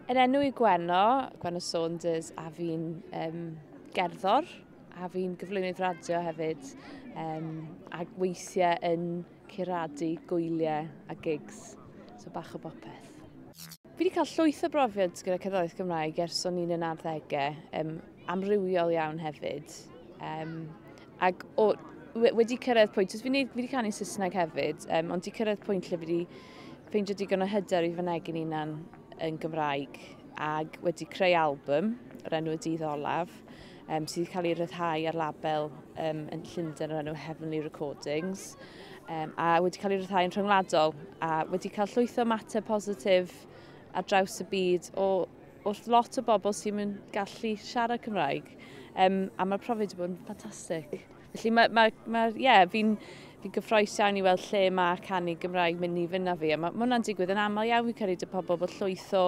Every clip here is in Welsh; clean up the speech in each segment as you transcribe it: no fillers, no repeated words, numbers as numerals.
Yn enw i Gwenno, Gwenno Saunders, a fi'n gerddor, a fi'n gyflwynydd radio hefyd, ac weithiau yn curadu gwyliau a gigs, so bach o bopeth. Fi wedi cael llwyth o brofiad gyda cerddoriaeth Gymraeg ers o'n i'n yn arddegau, amrywiol iawn hefyd. Ac wedi cyrraedd pwynt, fi wedi canu Saesneg hefyd, ond wedi cyrraedd pwynt lle fi wedi ffeindio digon o hyder i fynegi'n hunan yn Gymraeg ac wedi creu album o'r enw Y Dydd Olaf, sydd wedi cael ei ryddhau ar label yn Llundain o'r enw Heavenly Recordings, a wedi cael ei ryddhau yn rhyngwladol a wedi cael llwyth o ymateb positif ar draws y byd o wrth lot o bobl sy'n mynd gallu siarad Cymraeg, a mae'r profiad wedi bod yn ffantastig. Felly yeah, fi'n gyffrous iawn i weld lle mae canu Gymraeg mynd i fynd â fi. A mae hwnna'n digwydd yn aml iawn, fi'n credu, 'da pobl, bod llwyth o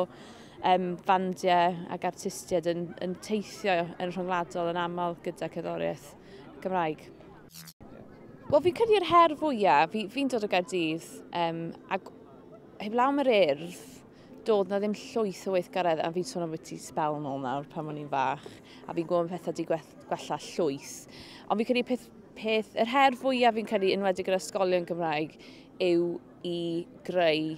fandiau ac artistiaid yn teithio yn rhyngwladol yn aml gyda cerddoriaeth Gymraeg. Wel, fi'n credu'r her fwyaf, fi'n dod o Gaerdydd, ac heblaw am yr Urdd, doedd na ddim llwyth o weithgaredd, a fi'n sôn am byti sbel nôl nawr pan o'n i'n fach, a fi'n gwybod pethau wedi gwella llwyth. Ond fi'n credu yr her fwyaf fi'n credu, enwedig gyda ysgolion Gymraeg, yw i greu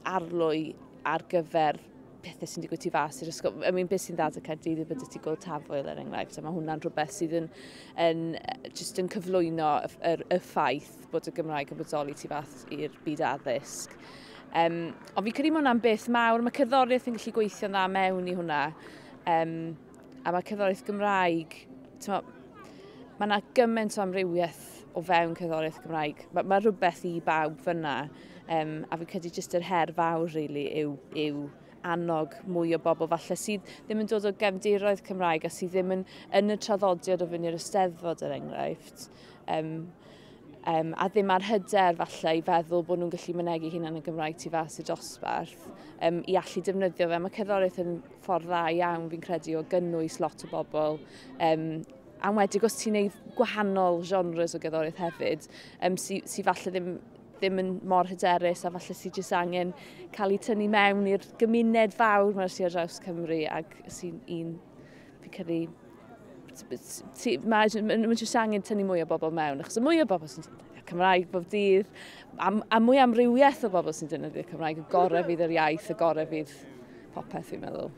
arlwy ar gyfer pethau sy'n digwydd tu fas i'r ysgol. I mean, beth sy'n dda 'da Caerdydd yw bod ti Gŵyl Tafwyl, er enghraifft, a mae hwnna'n rhywbeth sydd yn just yn cyflwyno y ffaith bod y Gymraeg yn bodoli tu fas i'r byd addysg. Ond fi'n credu mae hwnna'n beth mawr. Mae cerddoriaeth yn gallu gweithio'n dda mewn i hwnna. A mae cerddoriaeth Gymraeg, mae yna gymaint o amrywiaeth o fewn cerddoriaeth Gymraeg. Mae rhywbeth i bawb fyna. A fi'n credu jyst yr her fawr, really, yw annog mwy o bobl falle sydd ddim yn dod o gefndiroedd Cymraeg a sydd ddim yn y traddodiad o fynd i'r Eisteddfod, er enghraifft. A ddim ar hyder falle i feddwl bod nhw'n gallu mynegi hunan yn Gymraeg tu fas i'r dosbarth, i allu defnyddio fe. Mae cerddoriaeth yn ffordd dda iawn, fi'n credu, o gynnwys lot o bobl. A enwedig os ti'n neud gwahanol genres o gerddoriaeth hefyd, sy falle ddim yn mor hyderus a falle sy'n jyst angen cael eu tynnu mewn i'r gymuned fawr mae'r sy'n ar draws Cymru ac sy'n un, fi'n credu, mae jyst angen tynnu mwy o bobl mewn, achos y mwy o bobl sy'n defnyddio Cymraeg bob dydd, a mwy amrywiaeth o bobl sy'n defnyddio Cymraeg, y gorau fydd yr iaith, y gorau fydd popeth, fi'n meddwl.